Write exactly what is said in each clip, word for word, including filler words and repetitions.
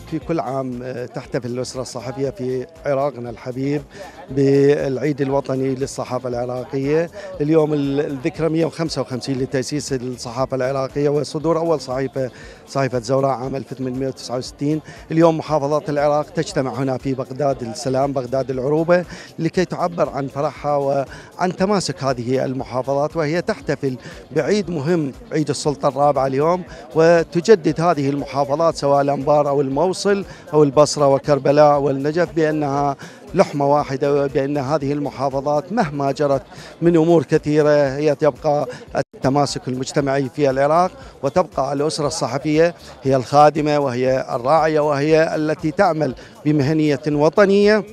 في كل عام تحتفل الأسرة الصحفية في عراقنا الحبيب بالعيد الوطني للصحافة العراقية. اليوم الذكرى مئة وخمسة وخمسين لتأسيس الصحافة العراقية وصدور أول صحيفة صحيفة زوراء عام ألف وثمانمئة وتسعة وستين. اليوم محافظات العراق تجتمع هنا في بغداد السلام بغداد العروبة لكي تعبر عن فرحها وعن تماسك هذه المحافظات، وهي تحتفل بعيد مهم عيد السلطة الرابعة اليوم، وتجدد هذه المحافظات سواء الأنبار أو الموصل أو البصرة وكربلاء والنجف بأنها لحمة واحدة، وبأن هذه المحافظات مهما جرت من أمور كثيرة هي تبقى التماسك المجتمعي في العراق، وتبقى الأسرة الصحفية هي الخادمة وهي الراعية وهي التي تعمل بمهنية وطنية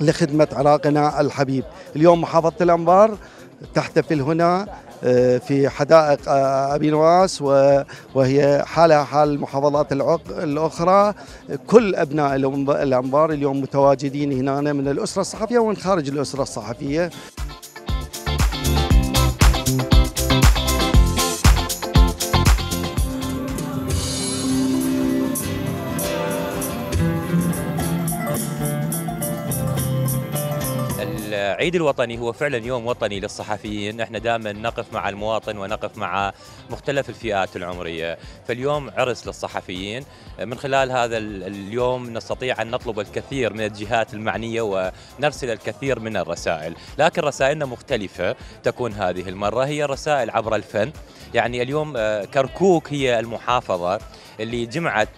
لخدمة عراقنا الحبيب. اليوم محافظة الأنبار تحتفل هنا في حدائق أبي نواس وهي حالها حال المحافظات الأخرى. كل أبناء الأنبار اليوم متواجدين هنا من الأسرة الصحفية ومن خارج الأسرة الصحفية. العيد الوطني هو فعلا يوم وطني للصحفيين، احنا دائما نقف مع المواطن ونقف مع مختلف الفئات العمرية، فاليوم عرس للصحفيين. من خلال هذا اليوم نستطيع أن نطلب الكثير من الجهات المعنية ونرسل الكثير من الرسائل، لكن رسائلنا مختلفة تكون هذه المرة، هي رسائل عبر الفن. يعني اليوم كركوك هي المحافظة اللي جمعت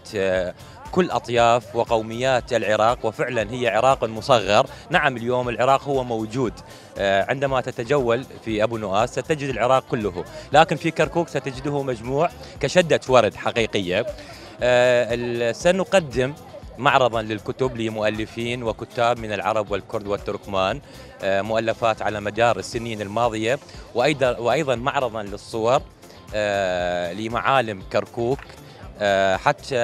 كل أطياف وقوميات العراق، وفعلا هي عراق مصغر. نعم اليوم العراق هو موجود، عندما تتجول في أبو نواس ستجد العراق كله، لكن في كركوك ستجده مجموع كشدة ورد حقيقية. سنقدم معرضا للكتب لمؤلفين وكتاب من العرب والكرد والتركمان، مؤلفات على مدار السنين الماضية، وأيضا وأيضا معرضا للصور لمعالم كركوك حتى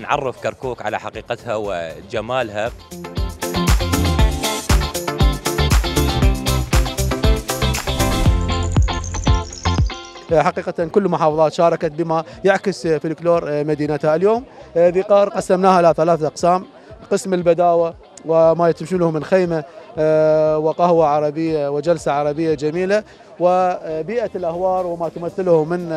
نعرف كركوك على حقيقتها وجمالها. حقيقة كل المحافظات شاركت بما يعكس فلكلور مدينتها. اليوم ذي قار قسمناها إلى ثلاثة أقسام: قسم البداوة وما يتمشونه من خيمة وقهوة عربية وجلسة عربية جميلة، وبيئة الأهوار وما تمثله من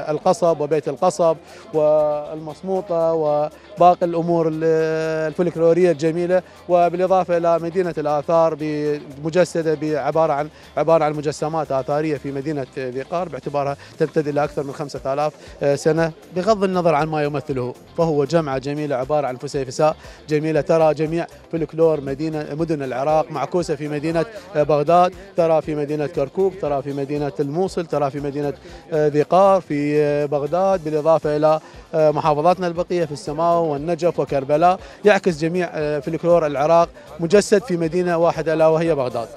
القصب وبيت القصب والمصموطة وباقي الأمور الفلكلورية الجميلة، وبالإضافة إلى مدينة الآثار مجسدة بعبارة عن عبارة عن مجسمات آثارية في مدينة ذي قار باعتبارها تمتد إلى أكثر من خمسة آلاف سنة. بغض النظر عن ما يمثله فهو جمعة جميلة عبارة عن فسيفساء جميلة، ترى جميع فلكلور مدينة مدن العراق معكوسة في مدينة بغداد، ترى في مدينة كركوك، ترى في مدينة الموصل، ترى في مدينة ذي قار، في بغداد، بالإضافة إلى محافظاتنا البقية في السماو والنجف وكربلاء. يعكس جميع فلكلور العراق مجسد في مدينة واحدة ألا وهي بغداد.